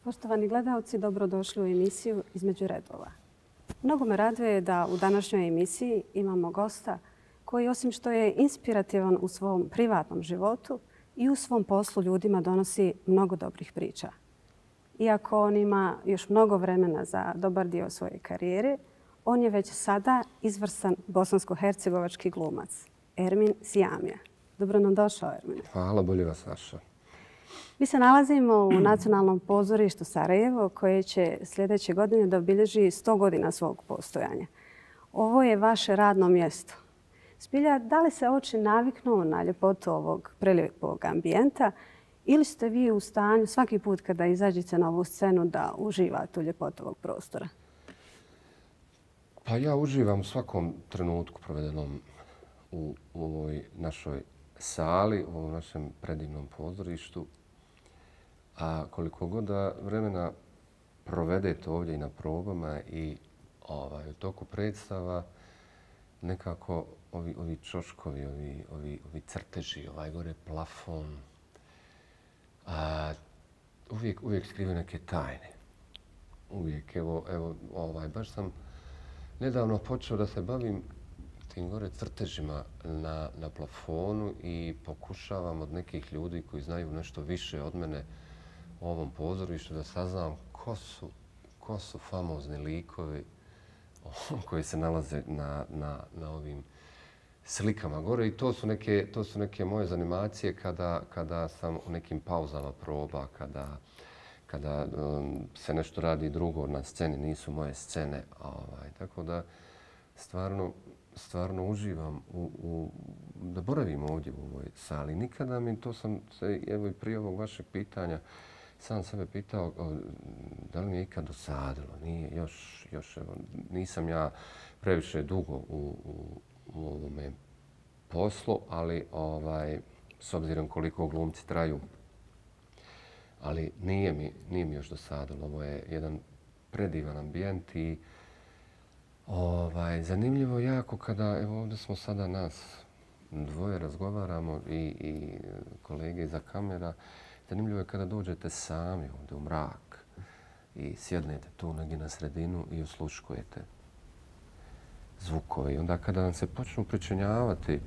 Poštovani gledalci, dobrodošli u emisiju Između redova. Mnogo me raduje da u današnjoj emisiji imamo gosta koji, osim što je inspirativan u svom privatnom životu, i u svom poslu ljudima donosi mnogo dobrih priča. Iako on ima još mnogo vremena za dobar dio svoje karijere, on je već sada izvrstan bosansko-hercegovački glumac, Ermin Sijamija. Dobro nam došao, Ermine. Hvala, bolje vas našao. Mi se nalazimo u Nacionalnom pozorištu Sarajevo, koje će sljedeće godine da obilježi 100 godina svog postojanja. Ovo je vaše radno mjesto. Zbilja, da li se oči naviknu na ljepotu ovog prelijepog ambijenta ili ste vi u stanju svaki put kada izađete na ovu scenu da uživate u ljepotu ovog prostora? Pa ja uživam u svakom trenutku provedenom u ovoj našoj sali, u ovom našem predivnom pozorištu. A koliko god da vremena provedete ovdje i na probama i u toku predstava, nekako ovi čoškovi, ovi crteži, ovaj gore plafon, uvijek skrive neke tajne. Uvijek, baš sam nedavno počeo da se bavim tim gore crtežima na plafonu i pokušavam od nekih ljudi koji znaju nešto više od mene u ovom pozorištu da saznam ko su famozni likovi koji se nalaze na ovim slikama gore. I to su neke moje zanimacije kada sam u nekim pauzama proba, kada se nešto radi drugo na sceni, nisu moje scene. Tako da stvarno uživam da boravim ovdje u ovoj sali. Nikada mi, to sam se, evo i prije ovog vašeg pitanja, sam sebe pitao da li mi je ikad dosadilo. Nije, još evo, nisam ja previše dugo u ovome poslu, ali s obzirom koliko glumci traju, ali nije mi još dosadilo. Ovo je jedan predivan ambijent i zanimljivo jako kada, evo ovdje smo sada nas dvoje razgovaramo i kolege iza kamera. Zanimljivo je kada dođete sami ovdje u mrak i sjednete tu negdje na sredinu i osluškujete zvukove. I onda kada vam se počnu pričinjavati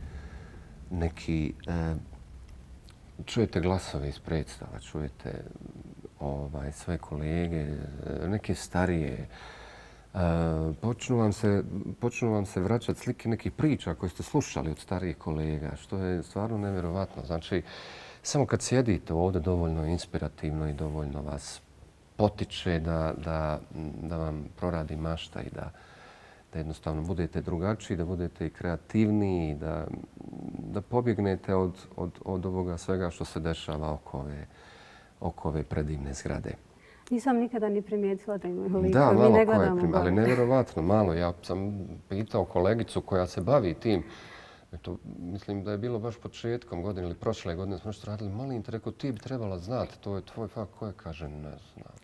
neki, čujete glasove iz predstava, čujete svoje kolege, neke starije, počnu vam se vraćati slike nekih priča koje ste slušali od starijih kolega, što je stvarno nevjerovatno. Znači, samo kad sjedite ovdje dovoljno inspirativno i dovoljno vas potiče da vam proradi mašta i da jednostavno budete drugačiji, da budete i kreativniji, da pobjegnete od ovoga svega što se dešava oko ove predivne zgrade. Nisam nikada ni primijetila da imaju likovi. Da, malo ko je, ali nevjerovatno malo. Ja sam pitao kolegicu koja se bavi tim. Mislim da je bilo baš početkom godine ili prošle godine smo nešto radili. Molim te, rekao, ti bi trebala znati, to je tvoj fakt. Koja kaže, ne znam.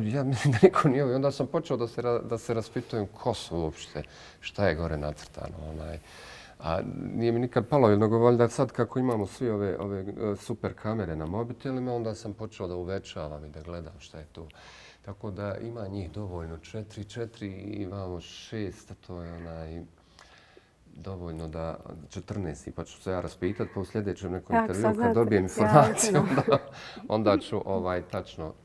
Ja mislim da niko nije ovo. Onda sam počeo da se raspitujem ko su uopšte, šta je gore nacrtano. A nije mi nikad palo, nego valjda sad kako imamo svi ove super kamere na mobitelima, onda sam počeo da uvećavam i da gledam šta je tu. Tako da ima njih dovoljno, 4 i imamo 6, to je dovoljno da 14, pa ću se ja raspitati, pa u sljedećem nekom intervju kad dobijem informaciju, onda ću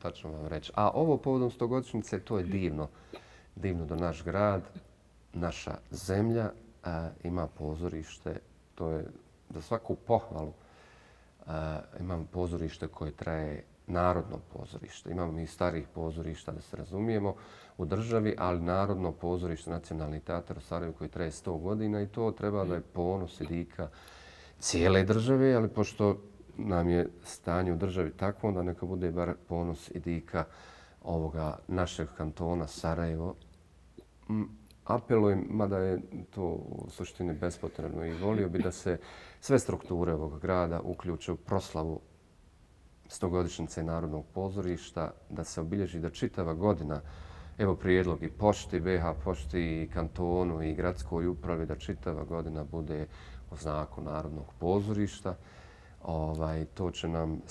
tačno vam reći. A ovo povodom 100-godišnjice, to je divno da naš grad, naša zemlja ima pozorište, to je za svaku pohvalu. Imamo pozorište koje traje narodno pozorište. Imamo mi starih pozorišta, da se razumijemo, u državi, ali narodno pozorište, Nacionalni teatar u Sarajevu koji traje 100 godina i to treba da je ponos i dika cijele države, ali pošto nam je stanje u državi takvo, onda neka bude bar ponos i dika ovoga našeg kantona Sarajevo. Apelujem, mada je to u suštini bespotrebno i volio bi da se sve strukture ovog grada uključe u proslavu 100-godišnjice Narodnog pozorišta, da se obilježi da čitava godina, evo prijedlog i pošti, BH pošti i kantonu i gradskoj upravi, da čitava godina bude u znaku Narodnog pozorišta. To će nam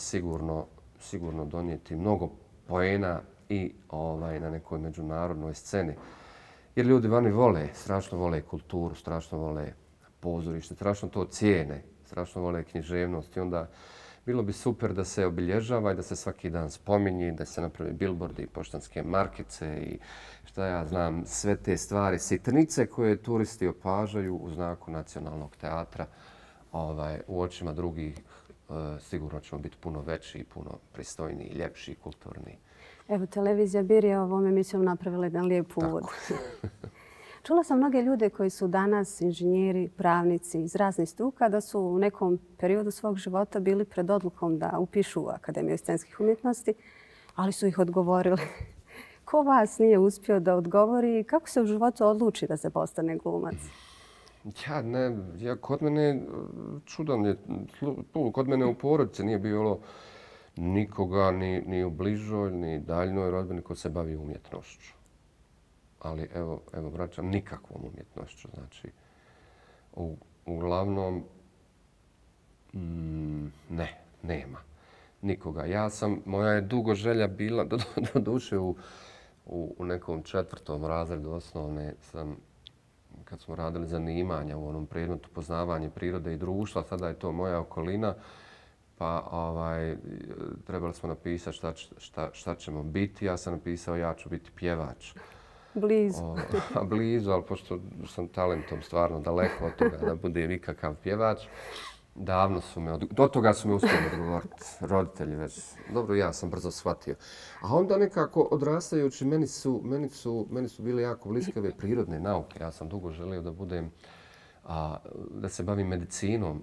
sigurno donijeti mnogo poena i na nekoj međunarodnoj sceni. Jer ljudi vani vole, strašno vole kulturu, strašno vole pozorište, strašno to cijene, strašno vole književnost i onda bilo bi super da se obilježava i da se svaki dan spominje, da se napravi bilbordi i poštanske markice i šta ja znam, sve te stvari, sitnice koje turisti opažaju u znaku nacionalnog teatra. U očima drugih sigurno ćemo biti puno veći, puno pristojniji, ljepši, kulturni. Evo, televizija Bir je ovom emisijom napravila jedan lijep uvod. Čula sam mnoge ljude koji su danas inženjeri, pravnici iz raznih struka da su u nekom periodu svog života bili pred odlukom da upišu Akademiju scenskih umjetnosti, ali su ih odgovorili. Ko vas nije uspio da odgovori i kako se u životu odluči da se postane glumac? Kod mene čudan je. Kod mene u porodici nije bilo nikoga ni u bližoj, ni daljnoj rodbini ko se bavi umjetnošću. Ali evo vraćam nikakvom umjetnošću. Znači, uglavnom, nema nikoga. Moja je dugo želja bila, do duše u nekom 4. razredu osnovne kad smo radili zanimanja u onom predmetu poznavanje prirode i društva, sada je to moja okolina, pa trebali smo napisati šta ćemo biti. Ja sam napisao ja ću biti pjevač. Blizu, ali pošto sam talentom stvarno daleko od toga da budem ikakav pjevač, davno su do toga su me uspjeli odgovoriti roditelji već. Dobro, ja sam brzo shvatio. A onda nekako odrastajući meni su bile jako bliske ove prirodne nauke. Ja sam dugo želio da se bavim medicinom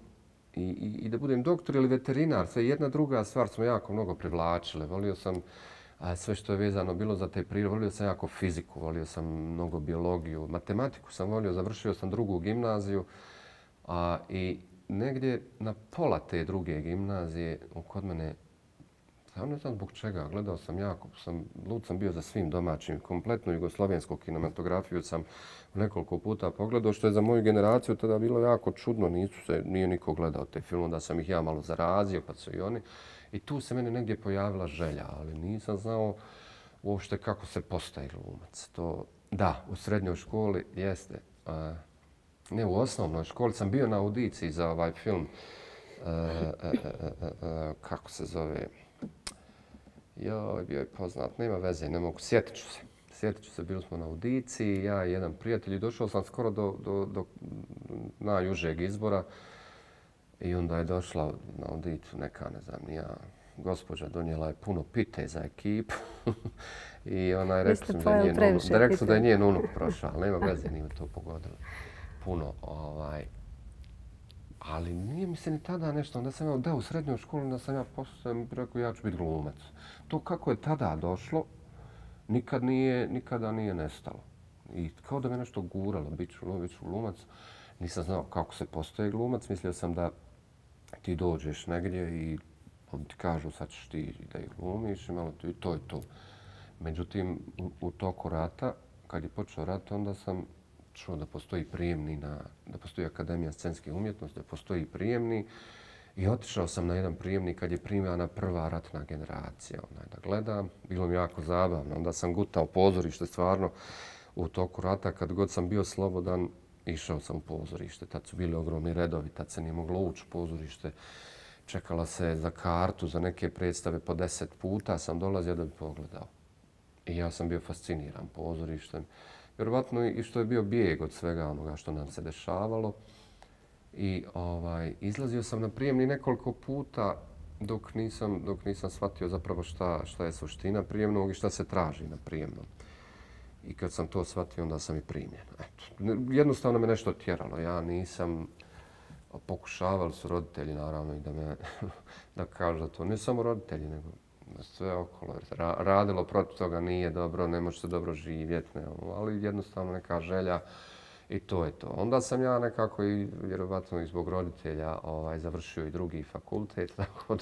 i da budem doktor ili veterinar. Sve jedna druga stvar smo jako mnogo privlačile. Volio sam sve što je vezano bilo za te prirode. Volio sam jako fiziku, volio sam mnogo biologiju, matematiku sam volio. Završio sam 2. gimnaziju i negdje na pola te 2. gimnazije kod mene, ja ne znam zbog čega, gledao sam lud sam bio za svim domaćim, kompletnu jugoslovensku kinematografiju sam nekoliko puta pogledao, što je za moju generaciju tada bilo jako čudno, nije niko gledao te filme, da sam ih ja malo zarazio, pa su i oni. I tu se meni negdje pojavila želja, ali nisam znao uopšte kako se postaje glumac. Da, u srednjoj školi jeste. Ne, u osnovnoj školi sam bio na audiciji za ovaj film. Kako se zove? Bio je poznat, nema veze, ne mogu. Sjetit ću se, bili smo na audiciji, ja i jedan prijatelj i došao sam skoro do najužeg izbora. I onda je došla na audiciju neka, ne znam, gospođa donijela je puno pite za ekipu i ona je rekla da je njen unuk prošao, ali nema veze, nije to pogodilo. Puno, ali nije mi se ni tada nešto, onda sam u srednjoj školi, onda sam rekao ja ću biti glumac. To kako je tada došlo, nikada nije nestalo. I kao da me nešto guralo, bit ću glumac. Nisam znao kako se postaje glumac, mislio sam da ti dođeš negdje i ti kažu sad ćeš ti da ih glumiš i to je to. Međutim, u toku rata, kad je počeo rat, onda sam čuo da postoji prijemni, da postoji Akademija scenskih umjetnosti, da postoji prijemni i otišao sam na jedan prijemni kad je primljena prva ratna generacija. Da gledam, bilo mi jako zabavno. Onda sam gutao pozorište stvarno u toku rata. Kad god sam bio slobodan, išao sam u pozorište. Tad su bili ogromni redovi, tad se nije moglo ući u pozorište. Čekala se za kartu, za neke predstave po 10 puta sam dolazio da bi pogledao. I ja sam bio fasciniran pozorištem. Vjerovatno i što je bio bijeg od svega onoga što nam se dešavalo. I izlazio sam na prijemni nekoliko puta dok nisam shvatio zapravo šta je suština prijemnog i šta se traži na prijemnom. I kad sam to shvatio, onda sam i primljen. Jednostavno me nešto tjeralo. Ja nisam... Pokušavali su roditelji, naravno, i da kažu da to ne samo roditelji, nego sve okolo. Radilo protiv toga nije dobro, ne može se dobro živjeti, ali jednostavno neka želja i to je to. Onda sam ja nekako i vjerovatno i zbog roditelja završio i 2. fakultet, tako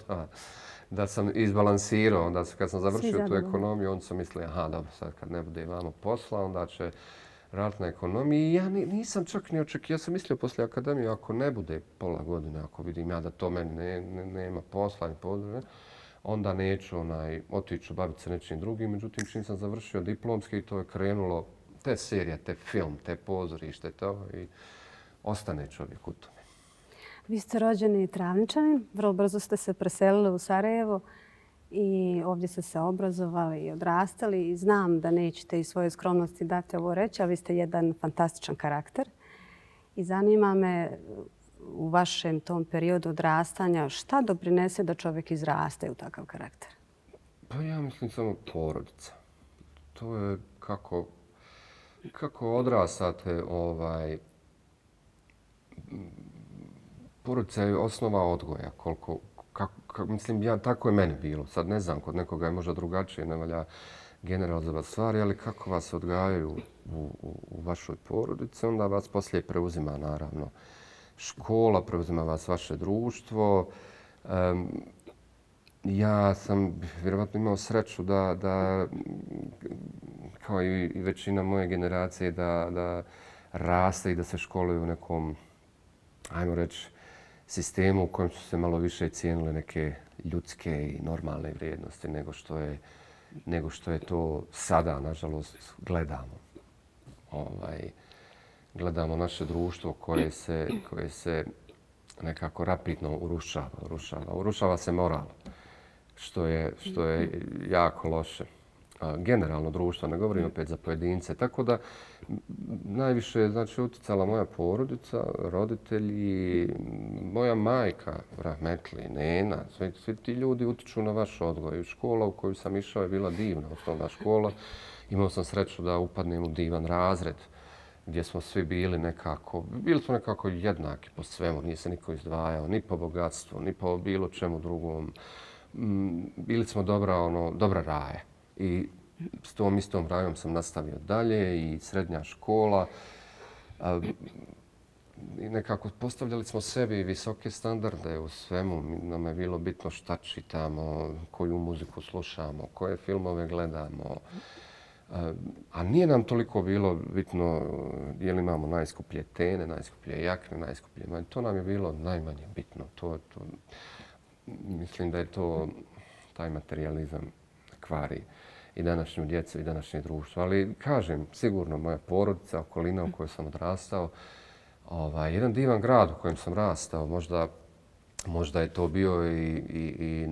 da sam izbalansirao. Onda kad sam završio tu ekonomiju, onda sam mislio, dobro, sad kad ne bude vamo posla, onda će raditi na ekonomiji. I ja nisam čak ni očekio. Ja sam mislio poslije akademije, ako ne bude pola godine, ako vidim ja da to meni nema posla ni područja, onda neću otići baviti se nečim drugim. Međutim, čim sam završio diplomski, to je krenulo te serije, te film, te pozorište, to i ostane čovjek u tome. Vi ste rođeni Travničanin, vrlo brzo ste se preselili u Sarajevo i ovdje ste se obrazovali i odrastali. I znam da nećete iz svoje skromnosti dati ovo reći, ali vi ste jedan fantastičan karakter. I zanima me u vašem tom periodu odrastanja šta doprinese da čovjek izraste u takav karakter? Pa ja mislim samo porodica. To je kako odrastate, porodica je osnova odgoja. Mislim, tako je meni bilo. Sad ne znam, kod nekoga je možda drugačije, ne valja generalizovati stvari, ali kako vas odgajaju u vašoj porodici, onda vas poslije preuzima, naravno, škola, preuzima vas vaše društvo. Ja sam vjerovatno imao sreću da kao i većina moje generacije, da raste i da se školuje u nekom, ajmo reći, sistemu u kojem su se malo više cijenile neke ljudske i normalne vrijednosti nego što je to sada, nažalost, gledamo. Gledamo naše društvo koje se nekako rapidno urušava. Urušava se moral, što je jako loše. Generalno društvo, ne govorim opet za pojedince. Tako da najviše je utjecala moja porodica, roditelji, moja majka, rahmetli, nena. Svi ti ljudi utiču na vaš odgoj. Škola u koju sam išao je bila divna, osnovna škola. Imao sam sreću da upadnem u divan razred gdje smo svi bili smo nekako jednaki po svemu. Nije se niko izdvajao, ni po bogatstvu, ni po bilo čemu drugom. Bili smo dobra raja. I s tom istom rajom sam nastavio dalje i srednja škola. I nekako postavljali smo sebi visoke standarde u svemu. Nam je bilo bitno šta čitamo, koju muziku slušamo, koje filmove gledamo. A nije nam toliko bilo bitno je li imamo najskuplje tene, najskuplje jakne, najskuplje. To nam je bilo najmanje bitno. Mislim da je taj materializam kvari i današnju djecu i današnje društvo. Ali kažem, sigurno moja porodica, okolina u kojoj sam odrastao, jedan divan grad u kojem sam rastao, možda je to bio i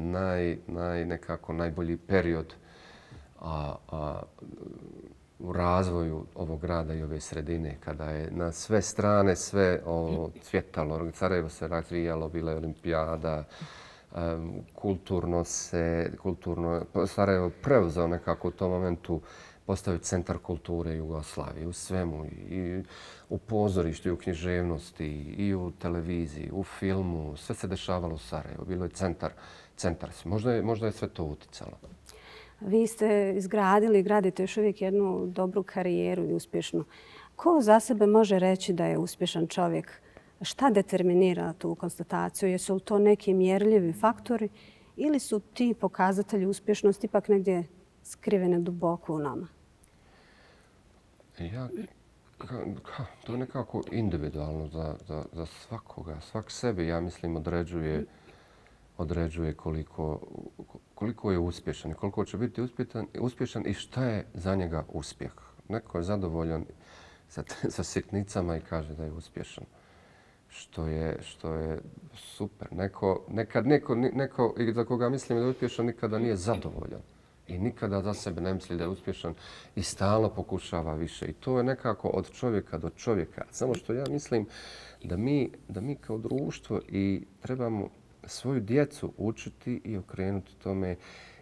nekako najbolji period u razvoju ovog grada i ove sredine, kada je na sve strane sve cvjetalo. Sarajevo se razvijalo, bila je olimpijada, kulturno Sarajevo preuzeo nekako u tom momentu, postavio centar kulture Jugoslavije u svemu, i u pozorištu, i u književnosti, i u televiziji, u filmu. Sve se dešavalo u Sarajevu. Bilo je centar. Možda je sve to uticalo. Vi ste izgradili i gradite još uvijek jednu dobru karijeru i uspješnu. Ko za sebe može reći da je uspješan čovjek? Šta determinira tu konstataciju? Jesu li to neki mjerljivi faktori ili su ti pokazatelji uspješnosti ipak negdje skrivene duboko u nama? To je nekako individualno za svakoga. Svak sebi, ja mislim, određuje koliko je uspješan i koliko će biti uspješan i šta je za njega uspjeh. Neko je zadovoljan sa sitnicama i kaže da je uspješan, što je super. Neko za koga mislim da je uspješan nikada nije zadovoljan i nikada za sebe ne misli da je uspješan i stalno pokušava više. I to je nekako od čovjeka do čovjeka. Samo što ja mislim da mi kao društvo i trebamo svoju djecu učiti i okrenuti tome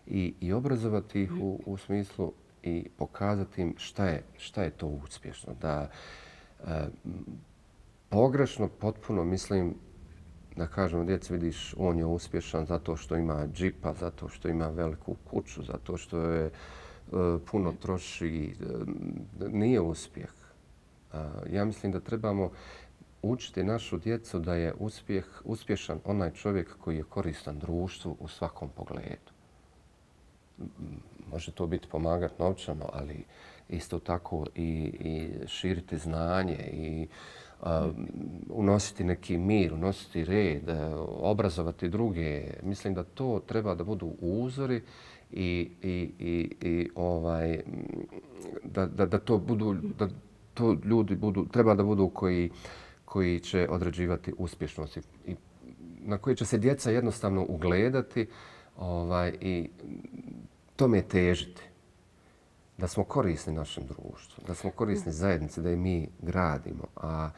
i obrazovati ih u smislu i pokazati im šta je to uspješno. Da pogrešno potpuno mislim da kažemo djeci, vidiš, on je uspješan zato što ima džipa, zato što ima veliku kuću, zato što je puno troši. Nije uspjeh. Ja mislim da trebamo učiti našu djecu da je uspješan onaj čovjek koji je koristan društvu u svakom pogledu. Može to biti pomagati novčano, ali isto tako i širiti znanje i unositi neki mir, unositi red, obrazovati druge. Mislim da to treba da budu uzori i da to budu, da to ljudi budu, treba da budu koji će određivati uspješnost i na koje će se djeca jednostavno ugledati i tome težiti. Da smo korisni našem društvu, da smo korisni zajednici, da i mi gradimo. A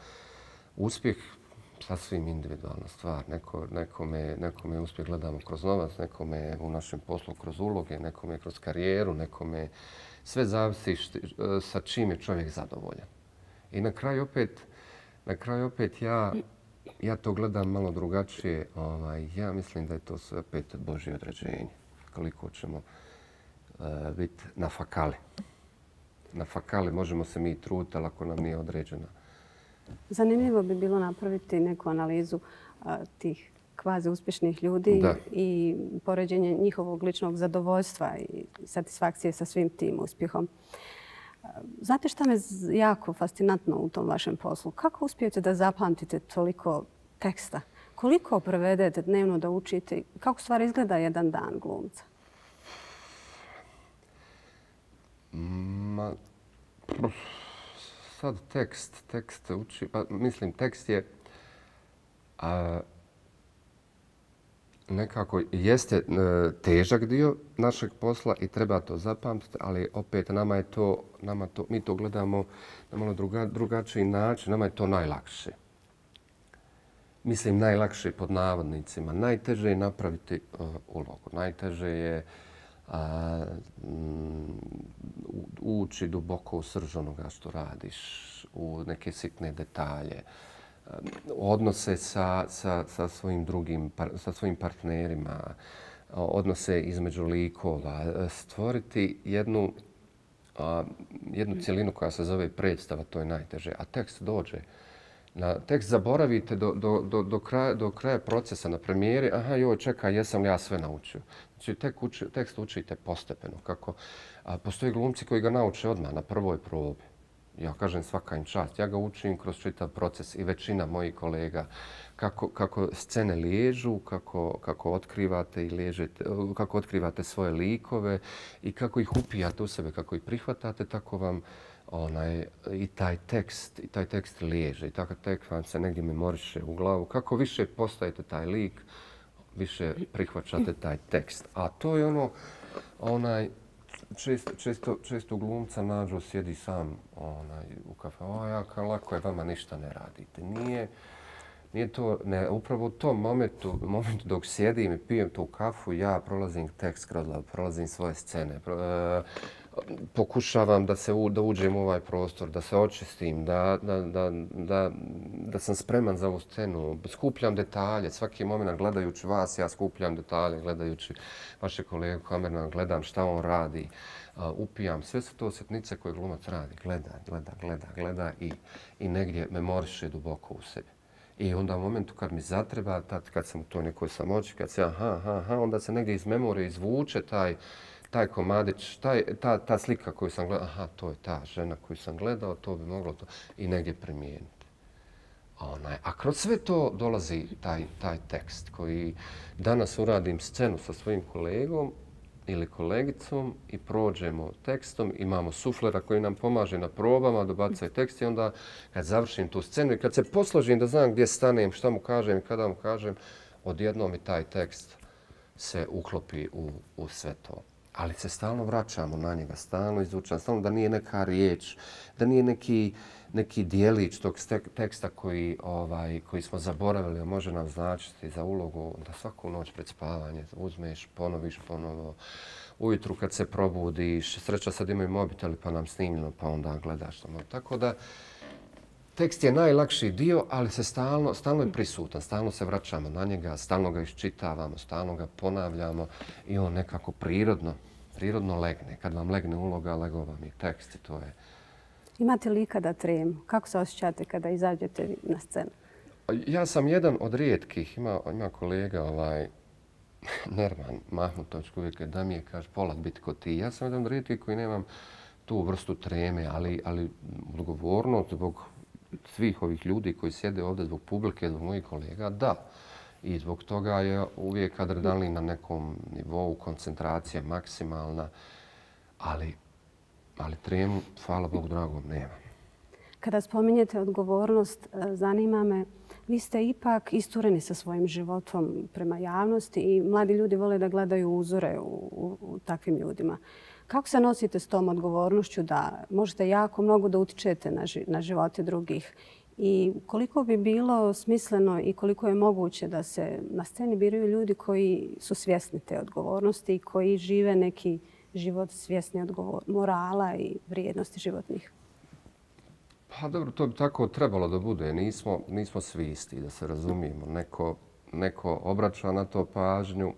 uspjeh sasvim individualna stvar. Nekome uspjeh gledamo kroz novac, nekome u našem poslu kroz uloge, nekome kroz karijeru, nekome sve zavisi sa čim je čovjek zadovoljan. I na kraju opet ja to gledam malo drugačije. Ja mislim da je to sve opet Božje određenje. Koliko ćemo biti na fakali. Na fakali možemo se mi truditi, ali ako nam nije određena. Zanimljivo bi bilo napraviti neku analizu tih kvazi uspješnih ljudi i poređenje njihovog ličnog zadovoljstva i satisfakcije sa svim tim uspjehom. Znate šta me jako fascinantno u tom vašem poslu? Kako uspijete da zapamtite toliko teksta? Koliko prevedete dnevno da učite? Kako stvar izgleda jedan dan glumca? Sad tekst uči, pa mislim tekst je nekako jeste težak dio našeg posla i treba to zapamtiti, ali opet mi to gledamo na malo drugačiji način, nama je to najlakše. Mislim najlakše pod navodnicima. Najteže je napraviti ulogu, najteže je ući duboko u srž onoga što radiš, u neke sitne detalje, odnose sa svojim partnerima, odnose između likova, stvoriti jednu cjelinu koja se zove predstava, to je najteže, a tekst dođe. Tekst zaboravite do kraja procesa na premijeri. Aha, joj, čekaj, jesam li ja sve naučio? Znači, tekst učite postepeno. Postoji glumci koji ga nauče odmah na prvoj probi. Ja kažem svaka im čast. Ja ga učim kroz čitav proces i većina mojih kolega. Kako scene liježu, kako otkrivate i liježete, kako otkrivate svoje likove i kako ih upijate u sebe, kako ih prihvatate, tako vam i taj tekst liježe. I takav tekst vam se negdje memoriše u glavu. Kako više postajete taj lik, više prihvaćate taj tekst. A to je često glumca nađu, sjedi sam u kafe. Lako je, vama ništa ne radite. Nije to, upravo u tom momentu dok sjedim i pijem tu kafu, ja prolazim tekst kroz glavu, prolazim svoje scene. Pokušavam da uđem u ovaj prostor, da se očistim, da sam spreman za ovu scenu. Skupljam detalje. Svaki moment gledajući vas, ja skupljam detalje, gledajući vaše kolege kamerna, gledam šta on radi, upijam. Sve su to sitnice koje glumac radi. Gleda i negdje memoriše duboko u sebi. I onda u momentu kad mi zatreba, kad sam u toj nekoj samoći, kad se onda se negdje iz memorije izvuče taj komadić, ta slika koju sam gledao, to je ta žena koju sam gledao, to bi moglo to i negdje primijeniti. A kroz sve to dolazi taj tekst koji danas uradim scenu sa svojim kolegom ili kolegicom i prođemo tekstom, imamo suflera koji nam pomaže na probama, dobacuje tekst i onda kad završim tu scenu i kad se posložim da znam gdje stanem, šta mu kažem i kada mu kažem, odjednom i taj tekst se uklopi u sve to. Ali se stalno vraćamo na njega, stalno izučamo, stalno da nije neka riječ, da nije neki dijelić tog teksta koji smo zaboravili, a može nam značiti za ulogu, da svaku noć pred spavanje uzmeš, ponoviš ponovo. Ujutru kad se probudiš, sreća sad imaju mobiteli pa nam snimljeno, pa onda gledaš. Tako da tekst je najlakši dio, ali se stalno je prisutan, stalno se vraćamo na njega, stalno ga iščitavamo, stalno ga ponavljamo i on nekako prirodno legne. Kad vam legne uloga, legao vam i tekst i to je. Imate li ikada tremu? Kako se osjećate kada izađete na scenu? Ja sam jedan od rijetkih, ima kolega Nerman Mahmutović koji uvijek da mi je, kaže, Polat biti ko ti. Ja sam jedan od rijetkih koji nemam tu vrstu treme, ali odgovornost zbog svih ovih ljudi koji sjede ovdje zbog publike, zbog mojih kolega, da. I zbog toga je uvijek adrenalin na nekom nivou, koncentracija maksimalna, ali tremu, hvala Bogu dragom, nema. Kada spominjete odgovornost, zanima me, vi ste ipak istureni sa svojim životom prema javnosti i mladi ljudi vole da gledaju uzore u takvim ljudima. Kako se nosite s tom odgovornošću da možete jako mnogo da utičete na živote drugih? I koliko bi bilo smisleno i koliko je moguće da se na sceni biraju ljudi koji su svjesni te odgovornosti i koji žive neki život svjesni morala i vrijednosti životnih? Pa dobro, to bi tako trebalo da bude. Nismo svi isti, da se razumijemo. Neko obraća na to pažnju,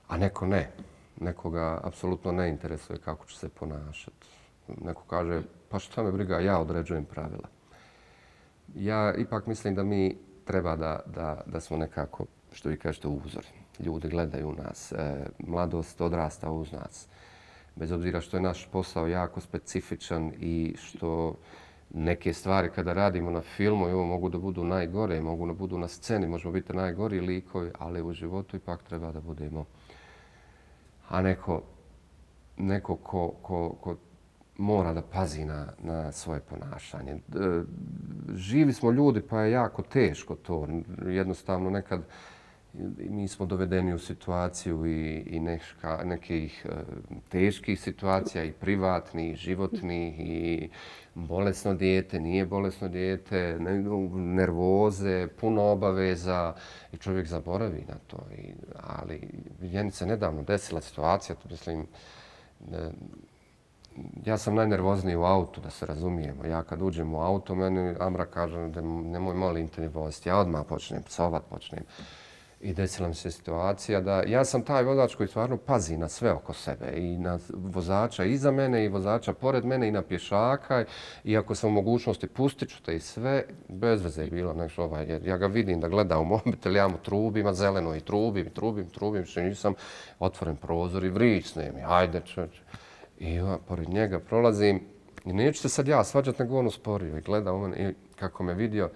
a neko ne. Nekoga apsolutno ne interesuje kako će se ponašati. Neko kaže, pa šta me briga, ja određujem pravila. Ja ipak mislim da mi treba da smo nekako, što vi kažete, uzori. Ljudi gledaju nas, mladost odrasta uz nas. Bez obzira što je naš posao jako specifičan i što neke stvari kada radimo na filmu, evo, mogu da budu najgore, mogu da budu na sceni, možemo biti najgori likovi, ali u životu ipak treba da budemo. A neko ko mora da pazi na svoje ponašanje. Živi smo ljudi pa je jako teško to. Jednostavno nekad mi smo dovedeni u situaciju i nekih teških situacija i privatnih, i životnih, i bolesno dijete, nije bolesno dijete, nervoze, puno obaveza i čovjek zaboravi na to. Ali meni se nedavno desila situacija, to mislim, ja sam najnervozniji u autu, da se razumijemo. Ja kad uđem u auto, meni Amra kaže da nemoj molim te voziti. Ja odmah počnem psovat, I desila mi se situacija da ja sam taj vozač koji stvarno pazi na sve oko sebe. I na vozača iza mene i vozača pored mene i na pješaka. I ako sam u mogućnosti pustit ću te i sve, bez veze je bilo nešto jer ja ga vidim da gleda u mobitel, ja mu trubim, a zeleno i trubim, što nisam otvoren prozor i vrisnem. Ajde čovječe. I ja pored njega prolazim i neću se sad ja svađati, nego on usporio i gleda u mene i kako me vidio,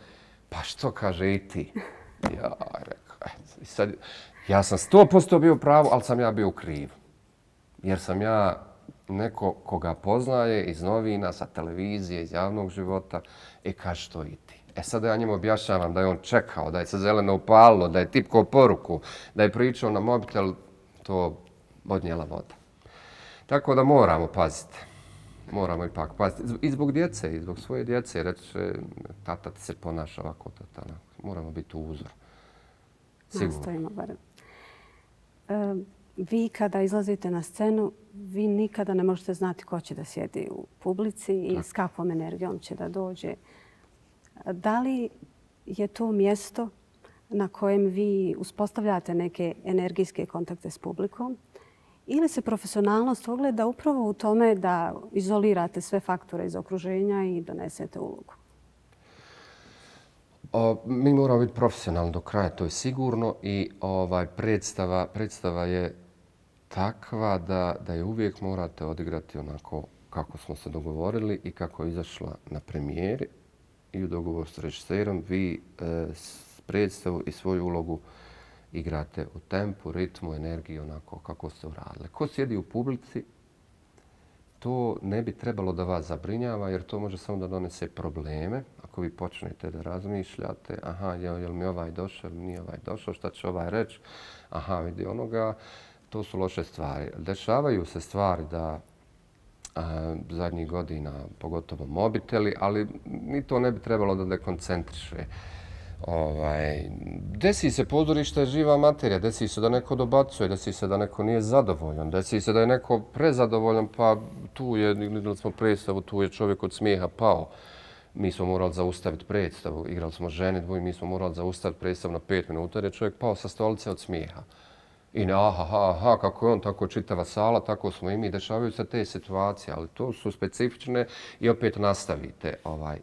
pa što kaže i ti? Ja rekao, i sad, ja sam 100% bio u pravu, ali sam ja bio u krivu. Jer sam ja neko koga poznaje iz novina, sa televizije, iz javnog života, kaže što i ti. Sad ja njemu objašnjavam da je on čekao, da je se zeleno upalilo, da je tipkao poruku, da je pričao na mobitel, to odnijela voda. Tako da moramo paziti. Moramo ipak paziti. I zbog djece, i zbog svoje djece. Reče, tata ti se ponaša ovako, tata. Moramo biti uzor. Sigurno. Nastojimo barem. Vi kada izlazite na scenu, vi nikada ne možete znati ko će da sjedi u publici i s kakvom energijom će da dođe. Da li je to mjesto na kojem vi uspostavljate neke energijske kontakte s publikom? Ili se profesionalnost ogleda upravo u tome da izolirate sve faktore iz okruženja i donesete ulogu? Mi moramo biti profesionalni do kraja, to je sigurno. I predstava je takva da je uvijek morate odigrati onako kako smo se dogovorili i kako je izašla na premijeri. I u dogovoru s režiserom vi predstavu i svoju ulogu igrate u tempu, ritmu, energiji, onako kako ste uradili. Ko sjedi u publici, to ne bi trebalo da vas zabrinjava, jer to može samo da donese probleme. Ako vi počnete da razmišljate, aha, je li mi ovaj došao, ili nije ovaj došao, šta će ovaj reći, aha, vidi onoga, to su loše stvari. Dešavaju se stvari da zadnjih godina, pogotovo mobiteli, ali ni to ne bi trebalo da dekoncentriše. Desi se pozorište je živa materija, desi se da neko dobacuje, desi se da neko nije zadovoljan, desi se da je neko prezadovoljan, pa tu je, gledali smo predstavu, tu je čovjek od smijeha pao. Mi smo morali zaustaviti predstavu, igrali smo ženidbu i mi smo morali zaustaviti predstavu na 5 minuta jer je čovjek pao sa stolice od smijeha. I aha, kako je on, tako čitava sala, tako smo i mi. Dešavaju se te situacije, ali to su specifične i opet nastavite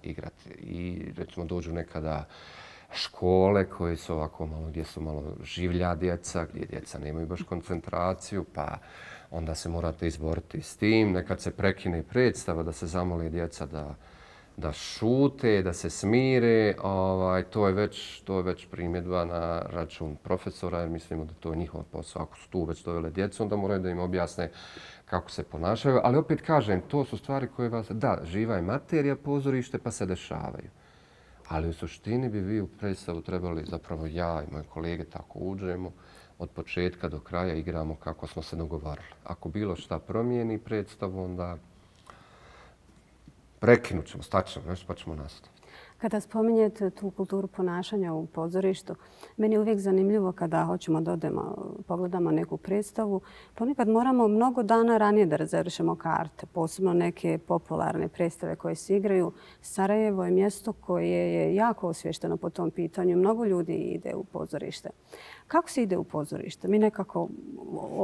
igrati. I recimo dođu nekada škole koje su ovako malo, gdje su malo življa djeca, gdje djeca nemaju baš koncentraciju, pa onda se morate izboriti s tim. Nekad se prekine i predstava da se zamoli djeca da šute, da se smire, to je već primjedba na račun profesora, jer mislimo da to je njihov posao. Ako su tu već dovele djecu, onda moraju da im objasne kako se ponašaju. Ali opet kažem, to su stvari koje vas... Da, živa je materija pozorište, pa se dešavaju. Ali u suštini bi vi u predstavu trebali, zapravo ja i moje kolege tako uđemo, od početka do kraja igramo kako smo se dogovarali. Ako bilo šta promijeni predstavu, onda prekinut ćemo, staćemo nešto pa ćemo nastaviti. Kada spominjete tu kulturu ponašanja u pozorištu, meni je uvijek zanimljivo kada hoćemo da odemo, pogledamo neku predstavu. Ponekad moramo mnogo dana ranije da rezervišemo karte, posebno neke popularne predstave koje se igraju. Sarajevo je mjesto koje je jako osvješteno po tom pitanju. Mnogo ljudi ide u pozorište. Kako se ide u pozorište? Mi nekako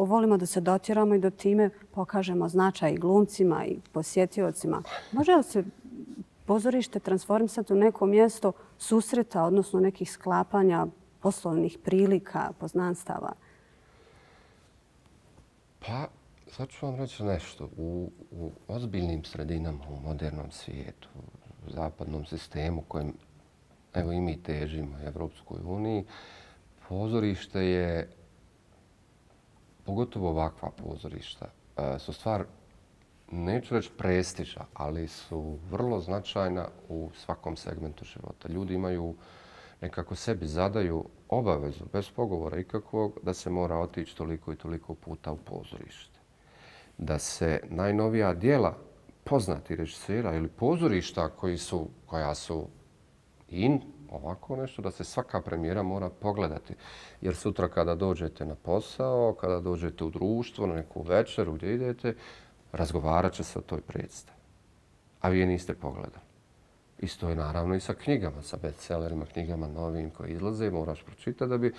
volimo da se dotiramo i da time pokažemo značaj i glumcima i posjetiocima. Može li se pozorište transformisati u neko mjesto susreta, odnosno nekih sklapanja poslovnih prilika, poznanstava? Pa, sad ću vam reći nešto. U ozbiljnim sredinama, u modernom svijetu, u zapadnom sistemu kojem evo i mi težimo, Evropskoj uniji, pozorište je, pogotovo ovakva pozorišta, su stvar, neću reći prestiža, ali su vrlo značajna u svakom segmentu života. Ljudi imaju, nekako sebi zadaju obavezu, bez pogovora ikakvog, da se mora otići toliko i toliko puta u pozorište. Da se najnovija djela poznati režisera ili pozorišta koja su ovako nešto, da se svaka premijera mora pogledati. Jer sutra kada dođete na posao, kada dođete u društvo, na neku večeru gdje idete, razgovarat će se o toj predstavi. A vi je niste pogledali. Isto je naravno i sa knjigama, sa bestsellerima, knjigama novim koje izlaze, moraš pročitati da bi...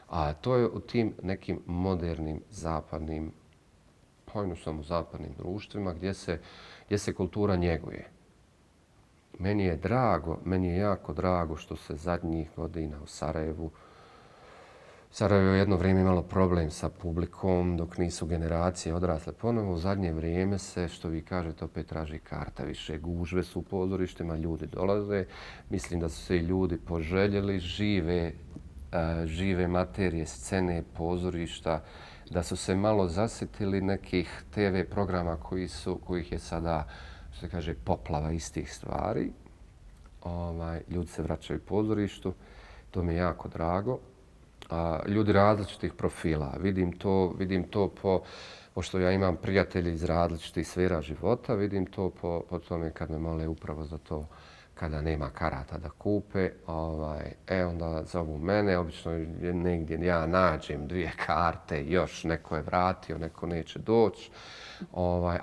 A to je u tim nekim modernim zapadnim, pojnu samo zapadnim društvima gdje se kultura njeguje. Meni je jako drago što se zadnjih godina u Sarajevu je jedno vrijeme imalo problem sa publikom dok nisu generacije odrasle ponovo. U zadnje vrijeme se, što vi kažete, opet traži karta. Više gužve su u pozorištima, ljudi dolaze. Mislim da su se i ljudi poželjeli žive materije, scene, pozorišta, da su se malo zasjetili nekih TV programa kojih je sada, što se kaže, poplava istih stvari. Ljudi se vraćaju u pozorištu. To mi je jako drago. Ljudi različitih profila. Vidim to pošto ja imam prijatelje iz različitih sfera života, vidim to po tome kad me mole upravo za to kada nema karata da kupe. Onda zovu mene, obično negdje ja nađem 2 karte, još neko je vratio, neko neće doći.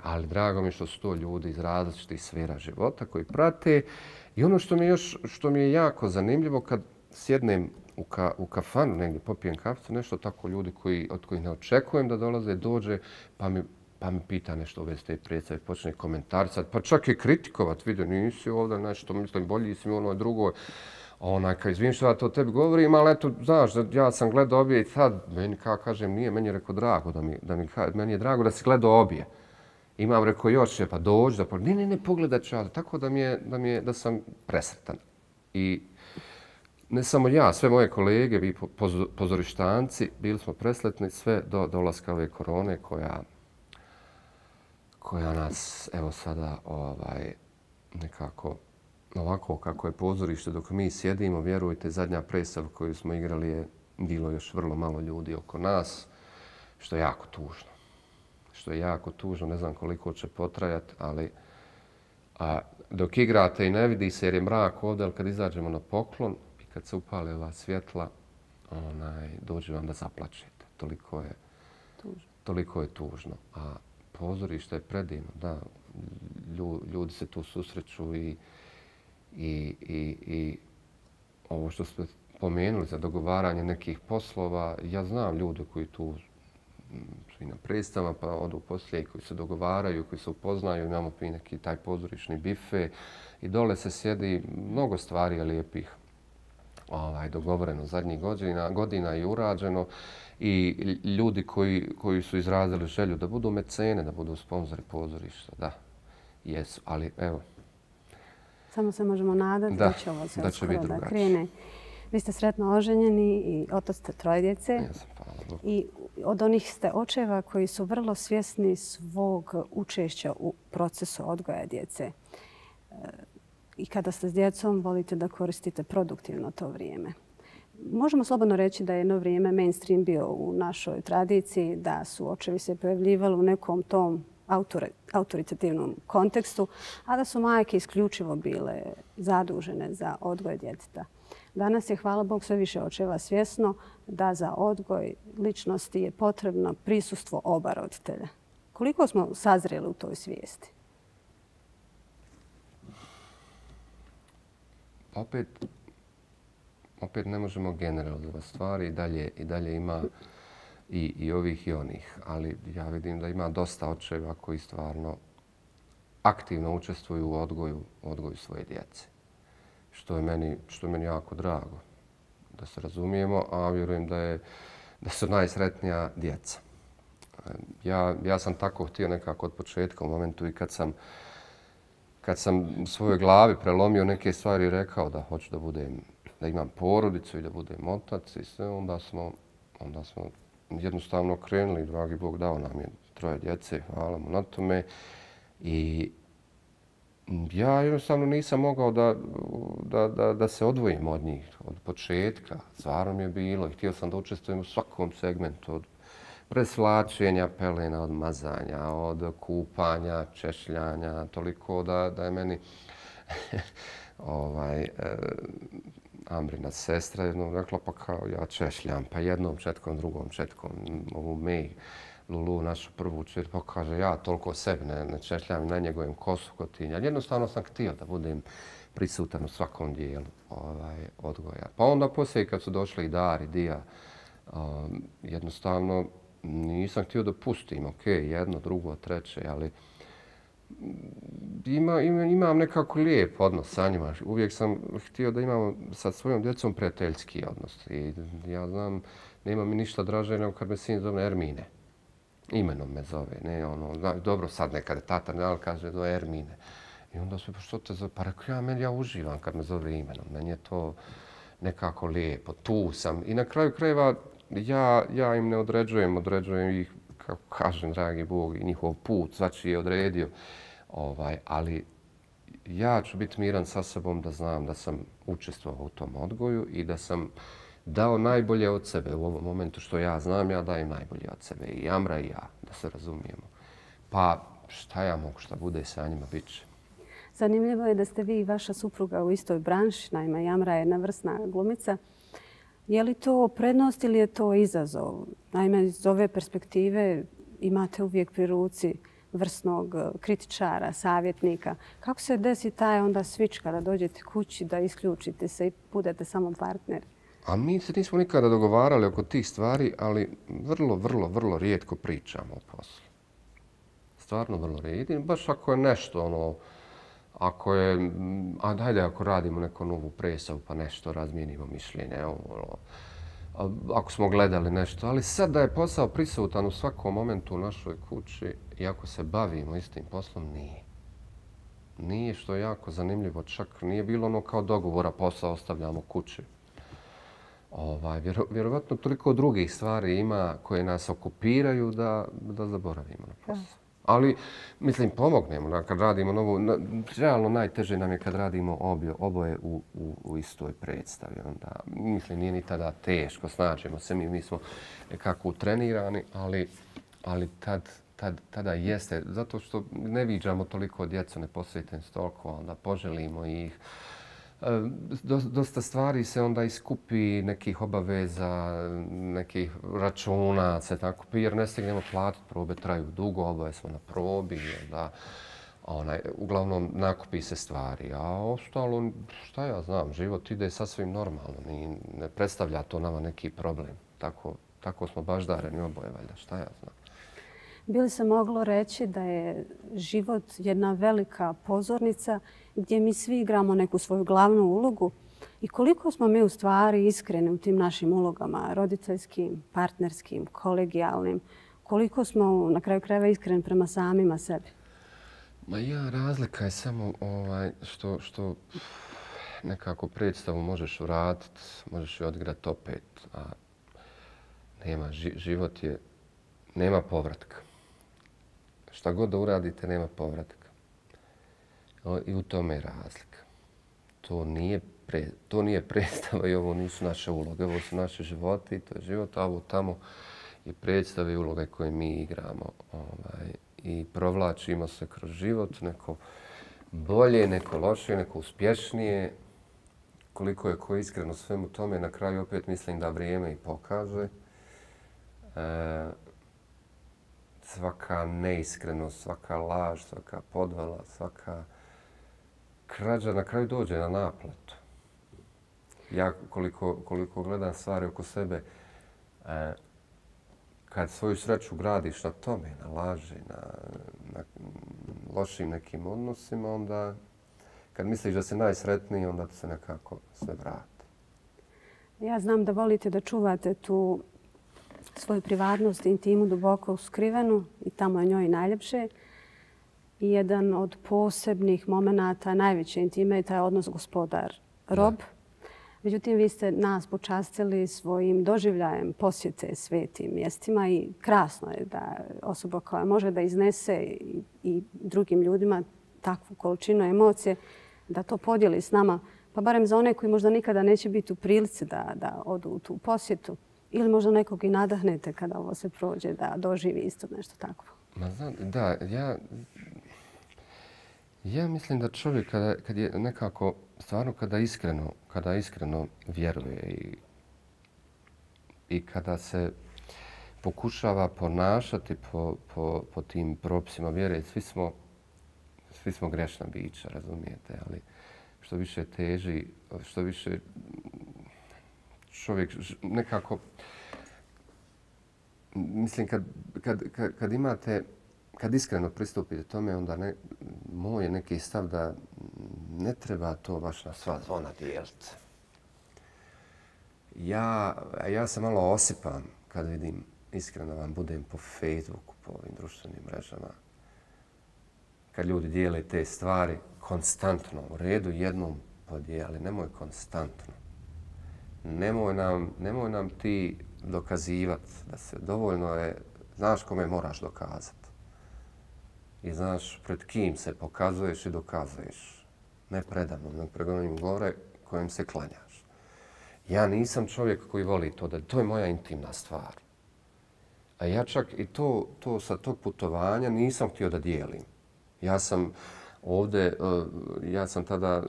Ali drago mi što su to ljudi iz različitih sfera života koji prate. I ono što mi je jako zanimljivo kad sjednem u kafanu, negdje popijem kaficu, nešto tako ljudi od kojih ne očekujem da dolaze, dođe pa mi pita nešto u vezi te predstave, počne komentarisati, pa čak i kritikovat, vidio nisi ovdje nešto, mislim bolji si mi ono drugo. Kad izvijem što ja to tebi govorim, ali eto, znaš, ja sam gledao obje i sad, meni kažem, nije, meni je rekao drago meni je drago da si gledao obje. Imam rekao još, pa dođi, ne, pogledat ću ja, tako da sam presretan. I ne samo ja, sve moje kolege, vi pozorištanci, bili smo presretni sve do dolaska ove korone koja nas, evo sada, nekako ovako kako je pozorište dok mi sjedimo, vjerujte, zadnja predstava koju smo igrali je bilo još vrlo malo ljudi oko nas, što je jako tužno. Ne znam koliko će potrajati, ali dok igrate i ne vidi se jer je mrak ovdje, ali kad izađemo na poklon, kad se upale ova svjetla, dođe vam da zaplačete. Toliko je tužno. A pozorište je predivno, da. Ljudi se tu susreću i ovo što ste pomenuli za dogovaranje nekih poslova, ja znam ljude koji tu su i na predstavama, pa odu poslije koji se dogovaraju, koji se upoznaju, imamo i neki taj pozorišni bife i dole se sjedi mnogo stvari lijepih dogovoreno zadnjih godina i urađeno i ljudi koji su izrazili želju da budu mecene, da budu sponzori pozorišta, da, jesu. Ali evo, Samo se možemo nadati da će ovo sve uskoro da krene. Vi ste sretno oženjeni i otac ste 3 djece. Jesam, hvala Bogu. I od onih ste očeva koji su vrlo svjesni svog učešća u procesu odgoja djece. I kada ste s djecom, volite da koristite produktivno to vrijeme. Možemo slobodno reći da je jedno vrijeme mainstream bio u našoj tradiciji, da su očevi se pojavljivali u nekom tom autoritativnom kontekstu, a da su majke isključivo bile zadužene za odgoj djeteta. Danas je, hvala Bogu, sve više očeva svjesno da za odgoj ličnosti je potrebno prisustvo oba roditelja. Koliko smo sazreli u toj svijesti? Opet ne možemo generalizovati stvari i dalje ima i ovih i onih. Ali ja vidim da ima dosta očeva koji stvarno aktivno učestvuju u odgoju svoje djece. Što je meni jako drago, da se razumijemo, a vjerujem da su najsretnija djeca. Ja sam tako htio nekako od početka, u momentu i kad sam u svojoj glavi prelomio neke stvari i rekao da hoću da imam porodicu i da budem otac i sve, onda smo jednostavno krenuli. Dragi Bog dao nam je 3 djece, hvala mu na tome. I ja jednostavno nisam mogao da se odvojim od njih od početka. Stvarno mi je bilo i htio sam da učestvujem u svakom segmentu, od presvlačenja pelena, od mazanja, od kupanja, češljanja, toliko da je meni Ambrina sestra jednom rekla pa kao ja češljam, pa jednom četkom, drugom četkom, ovu Mej, Lulu, našu prvu čer, pa kaže ja toliko sebi ne češljam i na njegovim kosu kotinja. Jednostavno sam htio da budem prisutan u svakom dijelu odgoja. Pa onda poslije kad su došli i Dar i Dija, jednostavno nisam htio da pustim, jedno, drugo, treće, ali imam nekako lijep odnos sa njima. Uvijek sam htio da imam sa svojom djecom prijateljski odnos. I ja znam, nema mi ništa draže nego kad me sin zove Ermine. Imenom me zove. Ne, dobro sad nekad tata ne, ali kaže do Ermine. I onda su, pa što te zove? Pa rekao, ja uživam kad me zove imenom. Meni je to nekako lijepo. Tu sam. I na kraju krajeva ja im ne određujem ih, kako kažem, dragi Bog, i njihov put, svačiji je odredio. Ali ja ću biti miran sa sobom da znam da sam učestvovao u tom odgoju i da sam dao najbolje od sebe. U ovom momentu što ja znam, ja dajem najbolje od sebe. I Amra i ja, da se razumijemo. Pa šta ja mogu, šta bude sa njima, bit će. Zanimljivo je da ste vi i vaša supruga u istoj branši. Naime, Amra je jedna vrsna glumica. Je li to prednost ili je to izazov? Naime, iz ove perspektive imate uvijek pri ruci vrsnog kritičara, savjetnika. Kako se desi taj onda switch kada dođete kući da isključite se i budete samo partner? A mi se nismo nikada dogovarali oko tih stvari, ali vrlo rijetko pričamo o poslu. Stvarno vrlo rijetko. Baš ako je nešto, ako radimo neku novu predstavu pa nešto razmijenimo mišljenje, ako smo gledali nešto. Ali sad da je posao prisutan u svakom momentu u našoj kući i ako se bavimo istim poslom, nije. Nije, što je jako zanimljivo. Čak nije bilo kao dogovora, posao ostavljamo kući. Vjerovatno toliko drugih stvari ima koje nas okupiraju da zaboravimo na posao. Ali, mislim, pomognemo kad radimo novu. Realno najteže nam je kad radimo oboje u istoj predstavi. Onda, mislim, nije ni tada teško, snađemo se, mi smo nekako utrenirani, ali tada jeste. Zato što ne viđamo toliko djecu, ne posvetimo se toliko, onda poželimo ih. Dosta stvari se onda iskupi, nekih obaveza, nekih računa se tako, jer ne stignemo platiti, probe traju dugo, oboje smo na probi, uglavnom nakupi se stvari. A ostalo, šta ja znam, život ide sasvim normalno, ne predstavlja to nama neki problem. Tako smo baždareni oboje, valjda, šta ja znam. Bi li se moglo reći da je život jedna velika pozornica gdje mi svi igramo neku svoju glavnu ulogu i koliko smo mi u stvari iskreni u tim našim ulogama, roditeljskim, partnerskim, kolegijalnim, koliko smo na kraju krajeva iskreni prema samima sebi? Razlika je samo što nekako predstavu možeš vratiti, možeš ju odigrati opet, a život nema povratka. Šta god da uradite, nema povratka. I u tome je razlika. To nije predstava i ovo nisu naše uloge, ovo su naši životi i to je život, a ovo tamo je predstave i uloge koje mi igramo. I provlačimo se kroz život, neko bolje, neko lošije, neko uspješnije. Koliko je ko iskreno svemu tome, na kraju opet mislim da vrijeme i pokaže. Svaka neiskrenost, svaka laž, svaka podvala, svaka krađa na kraju dođe na naplatu. Ja koliko gledam stvari oko sebe, kad svoju sreću gradiš na tome, na laži, na lošim nekim odnosima, onda kad misliš da si najsretniji, onda se nekako sve vrati. Ja znam da volite da čuvate tu svoju privatnost, intimu duboko skrivenu i tamo je njoj najljepše. I jedan od posebnih momenata najveće intime je taj odnos gospodar-rob. Međutim, vi ste nas počastili svojim doživljajem posjete svetim mjestima i krasno je da osoba koja može da iznese i drugim ljudima takvu količinu emocije, da to podijeli s nama, pa barem za one koji možda nikada neće biti u prilici da odu u tu posjetu ili možda nekog i nadahnete kada ovo se prođe da doživi isto nešto takvo. Da, ja mislim da čovjek kad je nekako, stvarno kada iskreno vjeruje i kada se pokušava ponašati po tim propisima vjere, svi smo grešna bića, razumijete, ali što više teži, što više čovjek nekako, mislim kad iskreno pristupite tome, onda moj je neki stav da ne treba to baš na sva zvona dijeliti. Ja se malo osipam kad vidim, iskreno vam budem po Facebooku, po ovim društvenim mrežama, kad ljudi dijele te stvari konstantno, u redu jednom podijeli, nemoj konstantno. Nemoj nam ti dokazivati da se dovoljno je, znaš kome moraš dokazati. I znaš pred kim se pokazuješ i dokazuješ. Ne predamnom, nego pred onim gore kojem se klanjaš. Ja nisam čovjek koji voli to, to je moja intimna stvar. A ja čak i to sa tog putovanja nisam htio da dijelim. Ja sam tada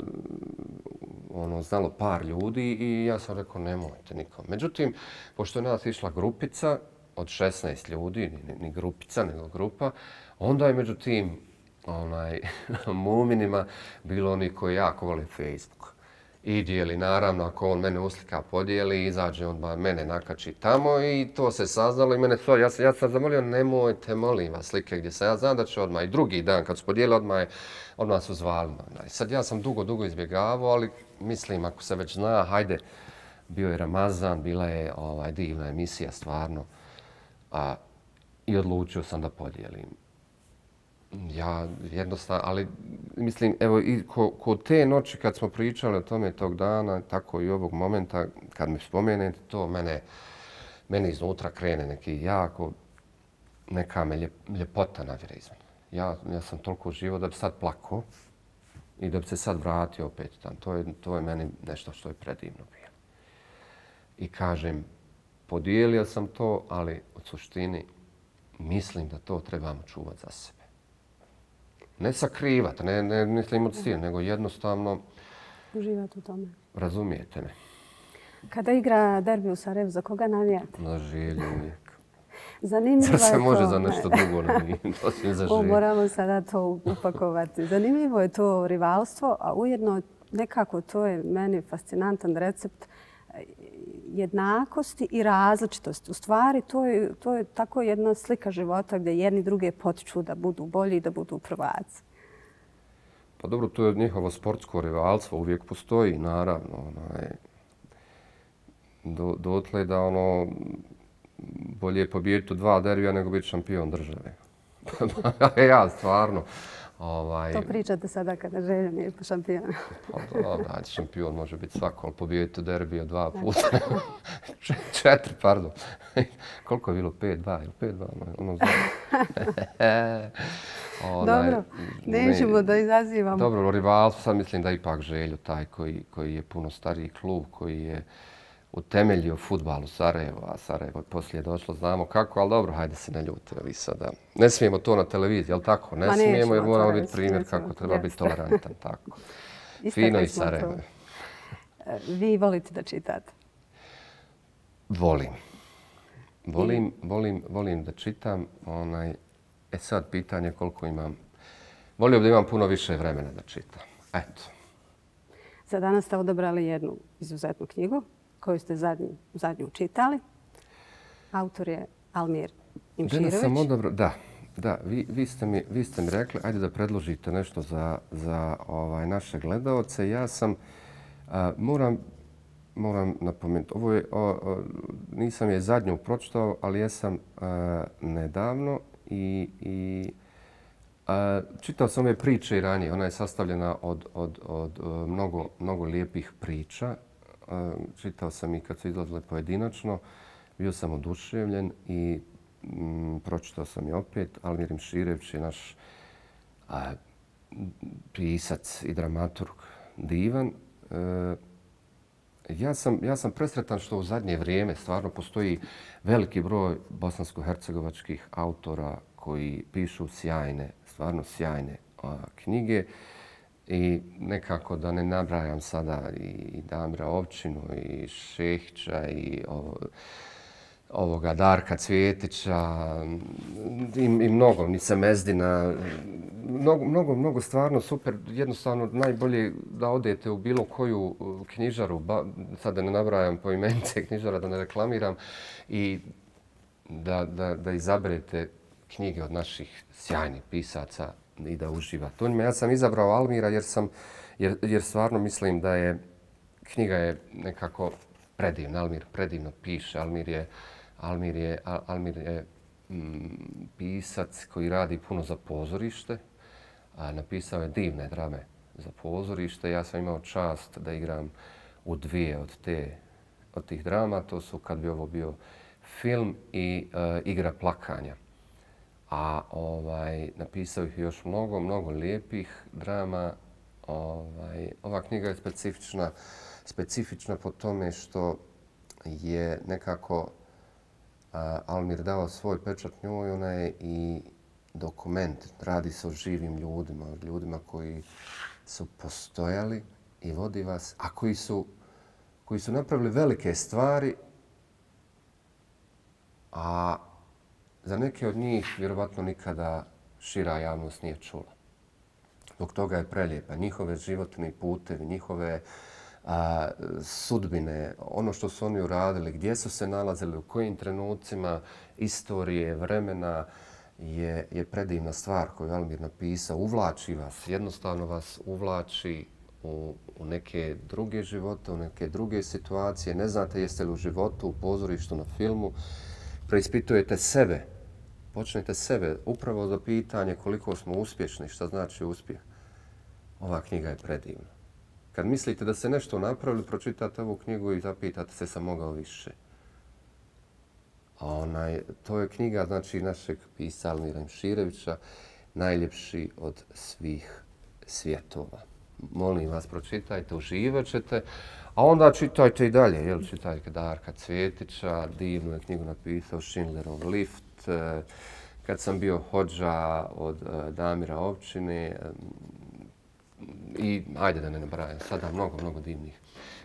znalo par ljudi i ja sam rekao nemojte nikom. Međutim, pošto je nas išla grupica od 16 ljudi, ni grupica, nego grupa, onda je među tim muminima bilo oni koji jako vole Facebook. I dijeli, naravno, ako on mene uslika podijeli, izađe on mene nakači tamo i to se saznalo i mene to, ja sam zamolio, nemojte, molim vas, slike gdje sam, ja znam da će odmah i drugi dan kad su podijeli, odmah su zvali. Sad ja sam dugo izbjegavao, ali mislim, ako se već zna, hajde, bio je Ramazan, bila je divna emisija, stvarno, i odlučio sam da podijelim. Ja jednostavno, ali mislim, evo i kod te noći kad smo pričali o tome tog dana, tako i ovog momenta, kad mi spomenete to, mene iznutra krene neka me ljepota navire iz mene. Ja sam toliko živo da bi sad plakao i da bi se sad vratio opet tam. To je meni nešto što je predivno bilo. I kažem, podijelio sam to, ali u suštini mislim da to trebamo čuvati za sebe. Ne sakrivati, ne mislim od stila, nego jednostavno uživati u tome. Razumijete me. Kada igra derbi u Sarajevu, za koga navijate? Na Želju uvijek. Zanimljivo je to. Sad se može za nešto drugo navijati, osim za Želju. Moramo sada to upakovati. Zanimljivo je to rivalstvo, a ujedno nekako to je meni fascinantan recept jednakosti i različitosti. U stvari, to je tako jedna slika života gdje jedni druge potiču da budu bolji i da budu prvaci. Pa dobro, to je njihovo sportsko rivalstvo, uvijek postoji, naravno. Dotle da bolje je pobijediti u 2 derbija nego biti šampion države. Ja, stvarno. To pričate sada kada Želja nije šampion. Dobro, šampion može biti svako, ali pobijete derbija 2 puta. 4, pardon. Koliko je bilo? 5-2 ili 5-2? Dobro, nećemo da izazivamo. Dobro, rivalstvo, sad mislim da ipak Željo taj koji je puno stariji klub, koji je utemeljio fudbal u Sarajevu, a Sarajevo poslije došlo, znamo kako, ali dobro, hajde se ne ljutimo vi sada. Ne smijemo to na televiziji, jel tako? Ne smijemo jer moramo biti primjer kako treba biti tolerantan, tako. Fino i Sarajevo. Vi volite da čitate? Volim da čitam. Sad pitanje koliko imam. Volio bih da imam puno više vremena da čitam. Eto. Za danas ste odabrali jednu izuzetnu knjigu koju ste zadnju čitali. Autor je Almir Imširević. Danas sam odabrao, da. Vi ste mi rekli, ajde da predložite nešto za naše gledalce. Ja sam, moram napomenuti, nisam je zadnju pročitao, ali jesam nedavno i čitao sam ove priče i ranije. Ona je sastavljena od mnogo lijepih priča. Čitao sam i kad su izlazile pojedinačno. Bio sam oduševljen i pročitao sam i opet. Almir Imširević je naš pisac i dramaturg divan. Ja sam presretan što u zadnje vrijeme stvarno postoji veliki broj bosansko-hercegovačkih autora koji pišu stvarno sjajne knjige. I nekako da ne nabrajam sada i Damira Ovčinu i Šehića i ovoga Darka Cvjetića i mnogo, Nice Mezdina. Mnogo stvarno super. Jednostavno najbolje da odete u bilo koju knjižaru, sad da ne nabrajam po imence knjižara, da ne reklamiram, i da izaberete knjige od naših sjajnih pisaca i da uživate. Ja sam izabrao Almira jer stvarno mislim da je knjiga je nekako predivna. Almir predivno piše. Almir je pisac koji radi puno za pozorište. Napisao je divne drame za pozorište. Ja sam imao čast da igram u 2 od tih drama. To su Kad bi ovo bio film i Igra plakanja. A napisao ih još mnogo lijepih drama. Ova knjiga je specifična po tome što je nekako Almir dao svoj pečat njoj. Ona je i dokument. Radi se o živim ljudima koji su postojali i vodi vas, a koji su napravili velike stvari, a za neke od njih vjerovatno nikada šira javnost nije čula. Zbog toga je prelijepa. Njihove životni putevi, njihove sudbine, ono što su oni uradili, gdje su se nalazili, u kojim trenucima istorije, vremena, je predivna stvar koju Almir napisao. Uvlači vas, jednostavno vas uvlači u neke druge živote, u neke druge situacije. Ne znate jeste li u životu, u pozorištu, na filmu. Preispitujete sebe. Počnete sebe upravo za pitanje koliko smo uspješni, šta znači uspjeh. Ova knjiga je predivna. Kad mislite da ste nešto napravili, pročitate ovu knjigu i zapitate se sam mogao više. To je knjiga našeg pisca Almira Imširevića, Najljepši od svih svjetova. Molim vas, pročitajte, uživat ćete, a onda čitajte i dalje. Čitajte Darka Cvjetića, divnu je knjigu napisao Schindlerov lift, Kad sam bio hodža od Damira Ovčine, i ajde da ne nabrajam sada mnogo divnih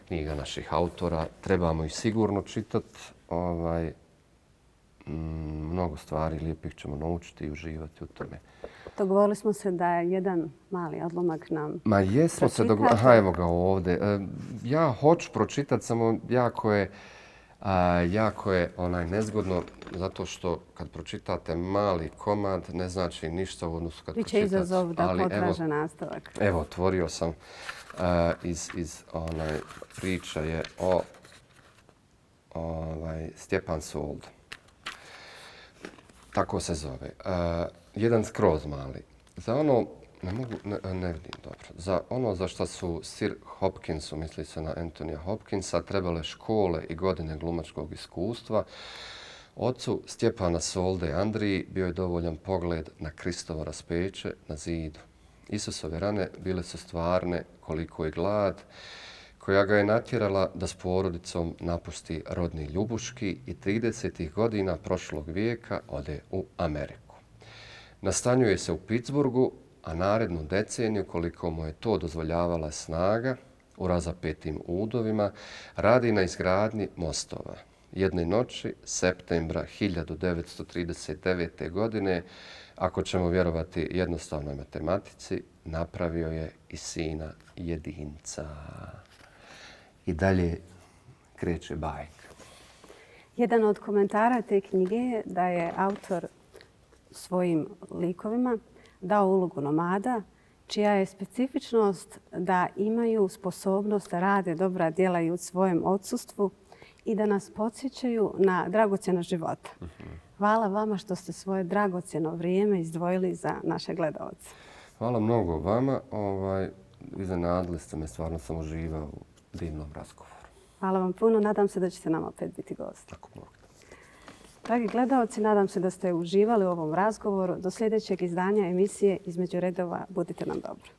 knjiga naših autora. Trebamo ih sigurno čitati. Mnogo stvari lijepih ćemo naučiti i uživati u tome. Dogovorili smo se da je jedan mali odlomak nam jesmo se dogovorili. Aha, evo ga ovdje. Ja hoću pročitati, samo jako je nezgodno, zato što kad pročitate mali komad ne znači ništa u odnosu kad pročitate. Biće izazov da potraže nastavak. Evo, otvorio sam iz priča je o Stjepan Sold. Tako se zove. Jedan skroz mali. Za ono Ne vidim dobro. Za ono za što su Sir Hopkinsu, misli se na Anthonyja Hopkinsa, trebale škole i godine glumačkog iskustva, ocu Stjepana Solde Andriji bio je dovoljan pogled na Kristovo raspeće na zidu. Isusove rane bile su stvarne koliko je glad, koja ga je natjerala da s porodicom napusti rodni Ljubuški i 30. godina prošlog vijeka ode u Ameriku. Nastanjuje se u Pittsburghu, a narednu deceniju, koliko mu je to dozvoljavala snaga, u razapetim udovima, radi na izgradnji mostova. Jedne noći, septembra 1939. godine, ako ćemo vjerovati jednostavnoj matematici, napravio je i sina jedinca. I dalje kreće bajka. Jedan od komentara te knjige je da je autor svojim likovima dao ulogu nomada, čija je specifičnost da imaju sposobnost da rade dobra djela i u svojem odsustvu i da nas podsjećaju na dragocjeno života. Hvala vama što ste svoje dragocjeno vrijeme izdvojili za naše gledalce. Hvala mnogo vama. Iznenadili ste me, stvarno sam uživao u divnom razgovoru. Hvala vam puno. Nadam se da ćete nam opet biti gosti. Tako Bog. Dragi gledalci, nadam se da ste uživali u ovom razgovoru. Do sljedećeg izdanja emisije Između redova budite nam dobro.